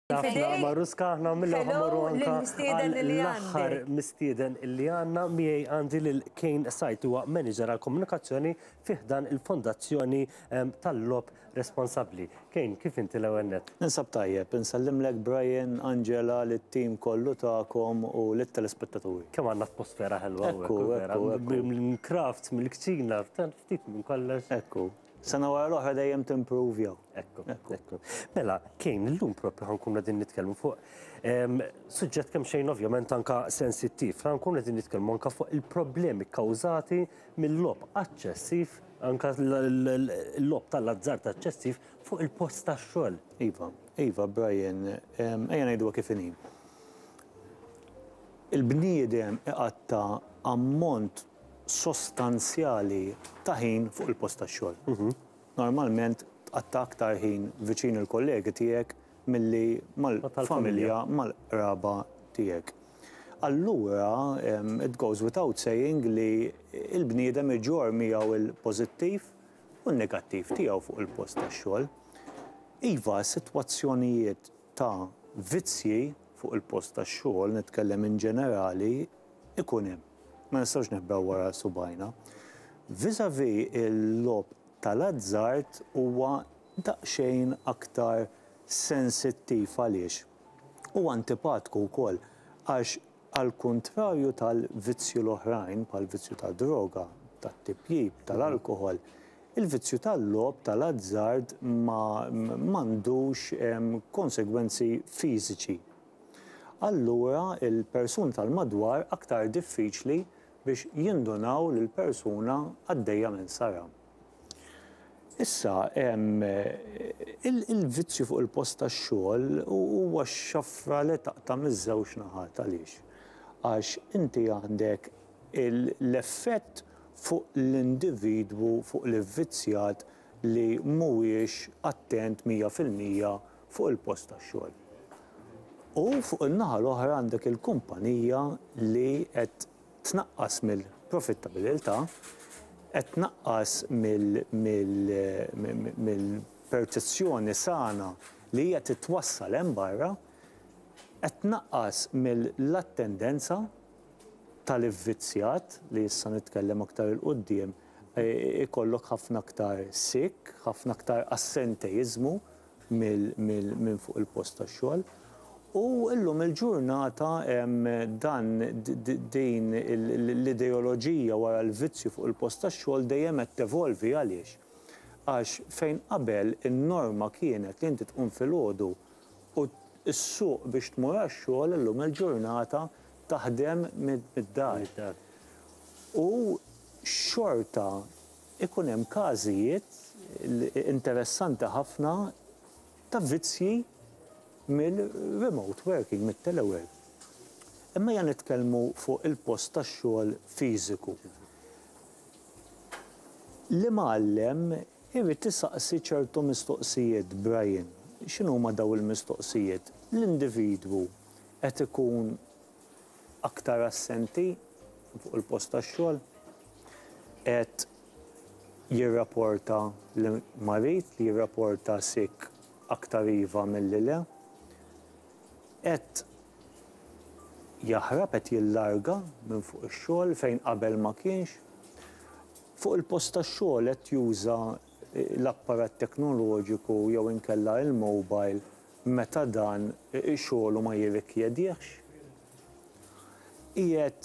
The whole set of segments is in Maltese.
Ħafna Maruska, aħna mill-ewwel Hello ħa mmorru anka lill-mistieden għal li l-aħħar għandek. mistieden illi għandna miegħi għandi lil Kane Sajt huwa manager għal komunikazzjoni fi ħdan il-Fondazzjoni tal-Logħob Responsabbli. Kane, kif inti l-ewwel nett? Ninsab tajjeb, insellimlek Brian, Angela, lit-tim kollu tagħkom u lit-telespettaturi. Kemm għandna atmosfera ħelwa hawnhekk, Ekku, vera. ekku, ekku. Mill-crafts, mill-kċina, ftit minn kollox. Ekku. Sena wara l-oħra dejjem timprovjaw. Ekku, ekku. Mela, Kane, illum propju ħa nkunu qegħdin nitkellmu fuq suġġett kemm xejn ovvjament anka sensittiv. Ħa nkunu qegħdin nitkellmu anka fuq il-problemi kkawżati mill-logħob aċċessiv, anka l-logħob tal-azzard aċċessiv fuq il-post tax-xogħol. Iva, iva, Brian, ejja ngħiduha kif inhi. Il-bniedem iqatta' ammont sostanzjali ta' ħin fuq il-post tax-xogħol. Normalment tqatta' aktar ħin viċin il-kollegi tiegħek milli mal-familja, mal-qraba tiegħek. Allura, it goes without saying li l-bniedem iġorr miegħu l-pożittiv u n-negattiv tiegħu fuq il-post tax-xogħol. Iva, sitwazzjonijiet ta' vizzji fuq il-post tax-xogħol, nitkellem in ġenerali, ikun hemm. Ma nistgħux neħbew wara subgħajna. Vis-à-vis il-logħob tal-azzard huwa daqsxejn aktar sensittiv għaliex? U antipatku wkoll għax għall-kuntrarju tal-vizzju l-oħrajn bħall-vizzju tad-droga, tat-tipjip, tal-alkoħol, il-vizzju tal-logħob tal-azzard ma m'għandux konsegwenzi fiżiċi. Allura l-persuni tal-madwar aktar diffiċli biex jindunaw li l-persuna għaddejja minn saram. Issa, il-vizzju fuq il-post tax-xogħol huwa x-xafra li taqta' miż-żewġ naħat. Għaliex? Għax inti għandek l-effett fuq l-individwu, fuq l-ivvizzjat li mhuwiex attent 100% fuq il-post tax-xogħol. U fuq in-naħa l-oħra għandek il-kumpanija li qed tnaqqas mill-profittabilità, qed tnaqqas mill-perċezzjoni sana li hija titwassal hemm barra, qed tnaqqas mill-attendenza tal-ivvizzjat, li issa nitkellem aktar 'il quddiem, ikollok ħafna aktar sick, ħafna aktar assenteiżmu minn fuq il-post tax-xogħol. U llum il-ġurnata dan din l-ideoloġija wara l-vizzju fuq il-post tax-xogħol dejjem qed tevolvi għaliex? Għax fejn qabel in-norma kienet li inti tqum filgħodu u ssuq biex tmur għax-xogħol illum il-ġurnata taħdem mid-dar. U xorta Ikun hemm każijiet interessanti ħafna ta' vizzji mill-remote working, mit-telework. Imma ejja nitkellmu fuq il-post tax-xogħol fiżiku. L-imgħallem irid isaqsi ċertu mistoqsijiet, Brian. X'inhuma dawn il-mistoqsijiet? L-individwu qed ikun aktar assenti fuq il-post tax-xogħol, qed jirrapporta li marid, li jirrapporta sick aktar iva milli le, qed jaħrab, qed jillarga minn fuq ix-xogħol fejn qabel ma kienx. Fuq il-post tax-xogħol qed juża l-apparat teknoloġiku jew inkella il-mobile meta dan xogħlu ma jirrikjedihx, qiegħed.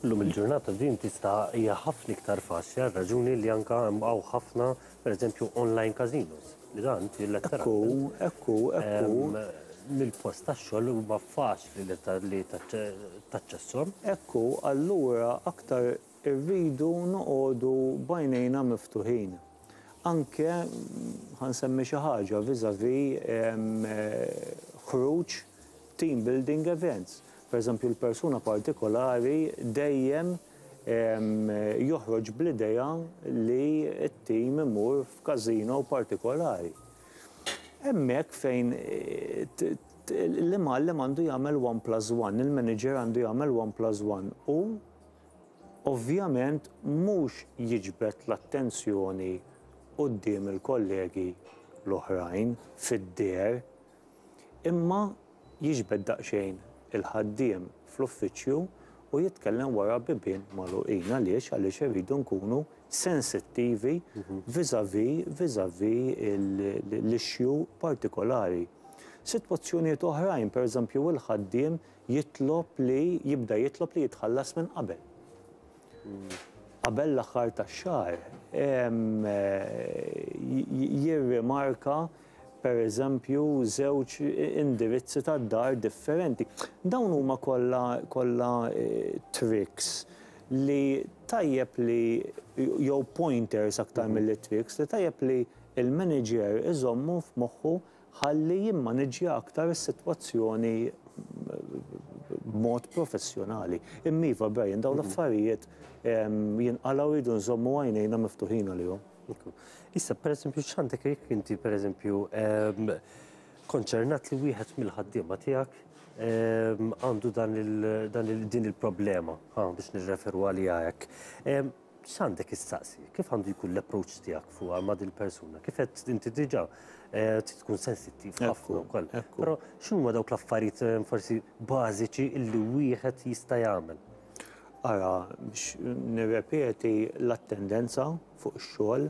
Illum il-ġurnata din tista' hija ħafna iktar faċli għar-raġuni li anke hemm hawn ħafna pereżempju online casinos li dan inti letteralment. Ekku, ekku, ekku. Mill-post tax-xogħol huma faċli li taċċesshom. Ekku, allura aktar Irridu noqogħdu b'għajnejna miftuħin. Anke, ħa nsemmi xi ħaġa vis-à-vis ħruġ team building events. Per eżempju l-persuna partikolari dejjem joħroġ bl-idea li t-team imur f'każino partikolari. Hemmhekk fejn l-imgħallem għandu jagħmel one plus one, il-manager għandu jagħmel one plus one u Ovvjament mhux jiġbed l-attenzjoni quddiem il-kollegi l-oħrajn, fid-deher. Imma jiġbed daqsxejn il-ħaddiem fl-uffiċċju u jitkellem wara bibien magħluqin. Għaliex? Għaliex irridu nkunu sensittivi vis-à-vis vis-à-vis l-issue partikolari. Sitwazzjonijiet oħrajn, pereżempju, il-ħaddiem jitlob li jibda jitlob li jitħallas minn qabel. Qabel l-aħħar tax-xahar jirrimarka pereżempju żewġ indirizzi tad-dar differenti. Dawn huma kollha kollha tricks li tajjeb li jew pointers aktar milli tricks li tajjeb li l-manager iżommu f'moħħu ħalli jimmaniġġja aktar is-sitwazzjoni b'mod professjonali. Imma iva, Brian, dawn l-affarijiet jinqalgħu, jridu nżommu għajnejna miftuħin għalihom. Issa, per eżempju, x'għandek jekk inti, per eżempju, konċernat li wieħed mill-ħaddiema tiegħek għandu dan din il-problema, biex nirreferu għaliha hekk. X'għandek issaqsi? Kif għandu jkun l-approach tiegħek fuq ma' din persuna? Kif qed inti diġà trid tkun sensittiv ħafna wkoll. Però x'huma dawk l-affarijiet forsi bażiċi illi wieħed jista' jagħmel? Ara, biex nirrepeti, l-attendenza fuq ix-xogħol,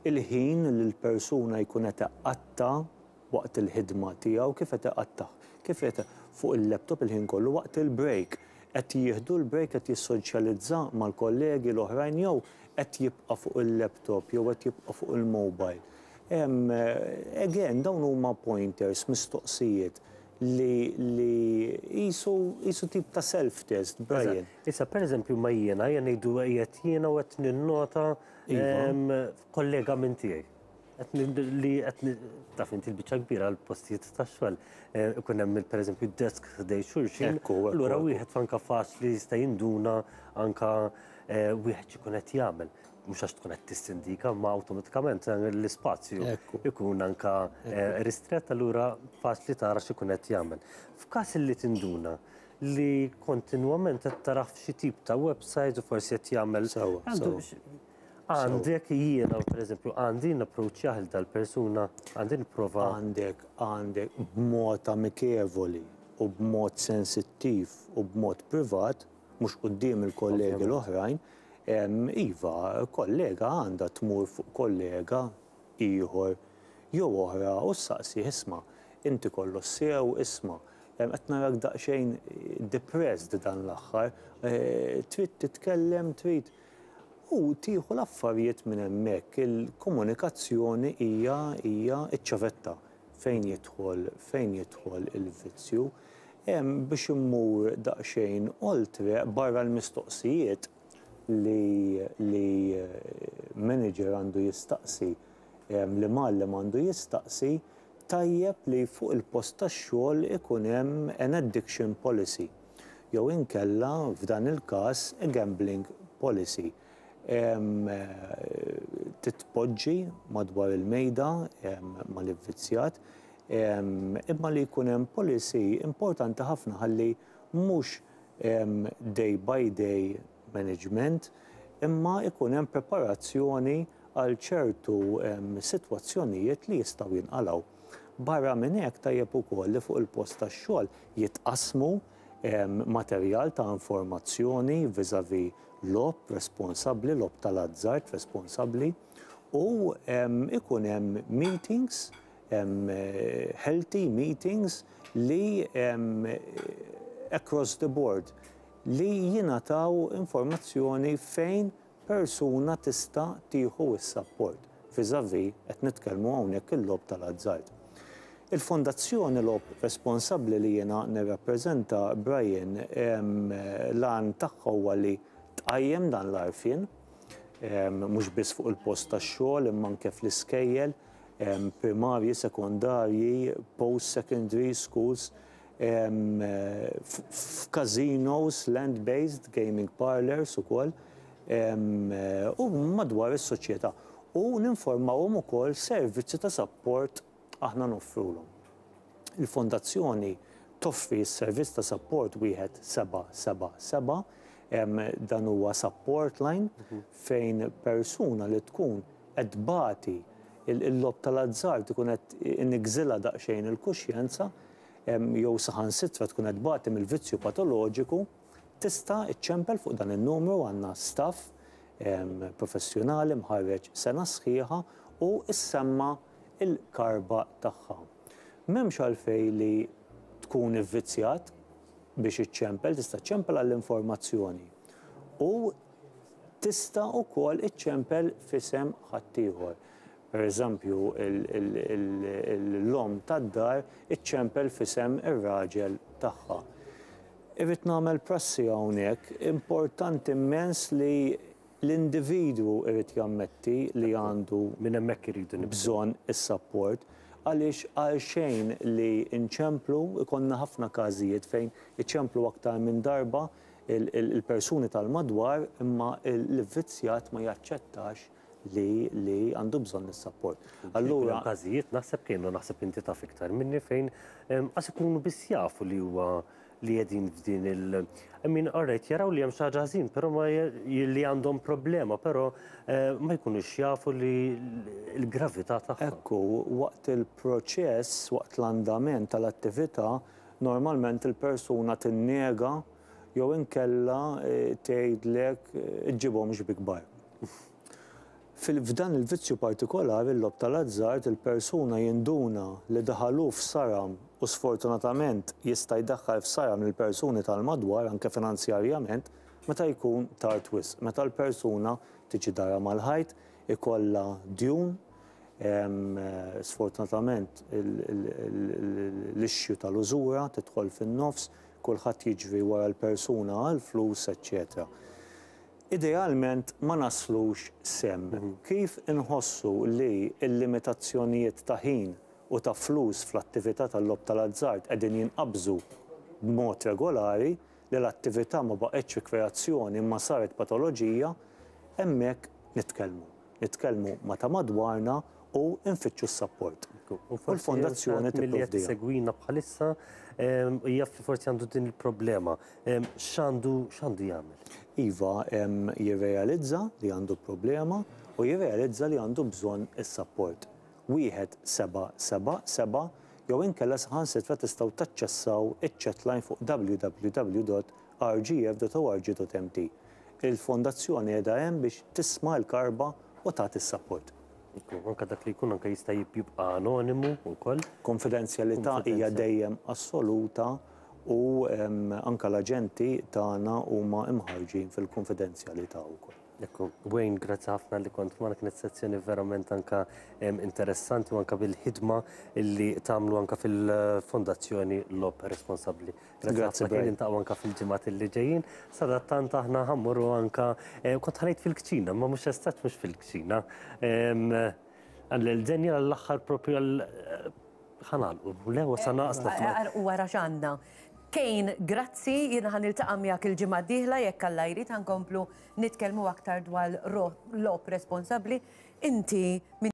il-ħin li l-persuna jkun qed iqatta' waqt il-ħidma tiegħu, kif qed iqattah, kif qed fuq il-laptop il-ħin kollu, waqt il-break. Qed jieħdu l-break, qed jissoċjalizza mal-kollegi l-oħrajn jew qed jibqa' fuq il-laptop jew qed jibqa' fuq il-mobile? Again, dawn huma pointers, mistoqsijiet li qisu tip ta' self-test, Brian. Issa, per eżempju, ma jiena ngħidu qiegħed jiena u qed ninnota kollega minn tiegħi. Li qed taf inti l-biċċa kbira l-postijiet tax-xogħol ikun hemm, pereżempju, desk ħdejn xulxin. Allura wieħed anka faċli jista' jinduna anka wieħed x'ikun qed jagħmel. Mhux għax tkun qed tissindika, ma awtomatikament l-ispazju ikun anka ristrett, allura faċli tara x'ikun qed jagħmel. F'każ li tinduna li kontinwament qed tarah f'xi tip ta' website u forsi qed jagħmel għandek jiena, pereżempju, għandi napproċċjah il dal-persuna, għandi nipprova? Għandek b'mod amikevoli u b'mod sensittiv u b'mod privat, mhux quddiem il-kollegi l-oħrajn, iva, kollega għandha tmur fuq kollega ieħor jew oħra u ssaqsih: "Isma', inti kollox sew? Isma', qed narak daqsxejn depressed dan l-aħħar, trid titkellem, trid?" U tieħu l-affarijiet minn hemmhekk. Il-komunikazzjoni hija ċ-ċavetta fejn jidħol il-vizzju. Biex immur daqsxejn oltre, barra l-mistoqsijiet li manager għandu jistaqsi, li mgħallem għandu jistaqsi, tajjeb li fuq il-post tax-xogħol ikun hemm an addiction policy jew inkella, f'dan il-każ, a gambling policy. Titpoġġi madwar il-mejda mal-ivvizzjat, imma li jkun hemm policy importanti ħafna ħalli mhux day by day management, imma ikun hemm preparazzjoni għal ċertu sitwazzjonijiet li jistgħu jinqalgħu. Barra minn hekk, tajjeb ukoll li fuq il-post tax-xogħol jitqasmu materjal ta' informazzjoni vis-à-vis logħob responsabbli, logħob tal-azzard responsabbli, u ikun hemm meetings, healthy meetings li across the board li jingħataw informazzjoni fejn persuna tista' tieħu s-support vis-à-vis qed nitkellmu hawnhekk il-logħob tal-azzard. Il-Fondazzjoni Logħob Responsabbli li jiena nirrappreżenta, Brian, l-għan tagħha huwa li tqajjem dan l-għarfien, mhux biss fuq il-post tax-xogħol imma anke fl-iskejjel primarji, sekondarji, post-secondary schools, f'casinos, land-based gaming parlors ukoll, u madwar is-soċjetà. U ninformawhom ukoll servizzi ta' support aħna noffrulhom. Il-fondazzjoni toffri s-servizz ta' support 1777. Dan huwa support line fejn persuna li tkun qed tbati il-logħob tal-azzard, ikun qed inigżilha daqsxejn il-kuxjenza. jew saħansitra tkun qed tbati mill-vizzju patoloġiku, tista' ċċempel fuq dan in-numru. Għandna staff professjonali mħarreġ sena sħiħa u ssemma l-karba tagħha. M'hemmx għalfejn li tkun ivvizzjat biex iċċempel, tista' ċċempel għall-informazzjoni u tista' wkoll iċċempel f'isem ħaddieħor. Per eżempju, l-omm tad-dar iċċempel f'isem ir-raġel tagħha. Irrid nagħmel prassi hawnhekk, importanti immens li l-individwu irid jammetti li għandu Minn hemmhekk iridu nibdew. Bżonn is-sapport, għaliex għalxejn li nċemplu, ikollna ħafna każijiet fejn iċemplu aktar minn darba il-persuni tal-madwar imma l-ivvizzjat ma jaċċettax li li għandu bżonn is-sapport. Allura każijiet, naħseb kienu, naħseb inti taf iktar minni, fejn qas ikunu biss jafu li huwa li qegħdin f'din il- I mean, alright, jaraw li hemm xi ħaġa ħażin, però ma li għandhom problema, però ma jkunux jafu li l-gravità tagħha. Ekku, waqt il-proċess, waqt l-andament tal-attività, normalment il-persuna tinnega jew inkella tgħidlek iġġibhomx bi kbar. F'dan il-vizzju partikolari, il-logħob tal-azzard, il-persuna jinduna li daħalu f'saram u sfortunatament jista' jdaħħal f'saram lill-persuni tal-madwar anke finanzjarjament meta jkun tard wisq, meta l-persuna tiġi dara mal-ħajt, ikollha djun, sfortunatament l-issue tal-użura tidħol fin-nofs, kulħadd jiġri wara l-persuna għall-flus, eċċetera. Idealment ma naslux s'hemm. Kif inħossu li l-limitazzjonijiet ta' ħin u ta' flus fl-attività tal-logħob tal-azzard qegħdin jinqabżu b'mod regolari, li l-attività ma baqgħetx rikreazzjoni imma saret patoloġija, hemmhekk nitkellmu. Nitkellmu ma' ta' madwarna u nfittxu s-sapport. U l-fondazzjoni tipprovdiha. Milli qed bħalissa jaf li forsi għandu din il-problema. X'għandu x'għandu jagħmel? Iva, jirrealizza li għandu problema u jirrealizza li għandu bżonn is-sapport. 1777 jew inkella saħansitra tistgħu taċċessaw iċ-chatline fuq www.rgf.org.mt. Il-fondazzjoni qiegħda hemm biex tisma' l-karba u tagħti s-sapport. Anka dak li jkun anka jista' jibqa' anonimu wkoll. Konfidenzjalità hija dejjem assoluta u anka l-aġenti tagħna huma imħarġin fil-konfidenzjalità wkoll. Ekku, Wayne, grazzi ħafna li kont magħna, kienet sezzjoni verament anka interessanti u anka bil-ħidma li tagħmlu anka fil-Fondazzjoni Logħob Responsabbli. Grazzi Grazzi, ħafna, kien Brian. niltaqgħu anka fil-ġimgħat li ġejjin. Sadattant aħna ħa mmorru anka kont ħa ngħid fil-kċina, ma mhux estat mhux fil-kċina. Għal Daniel għall-aħħar propju għal ħa nagħlqu. Le, wasalna qasna. U wara x'għandna. Kane, grazzi, jiena ħa niltaqa' miegħek il-ġimgħa d-dieħla jekk Alla jrid, ħa nkomplu nitkellmu aktar dwar logħob responsabbli. Inti minn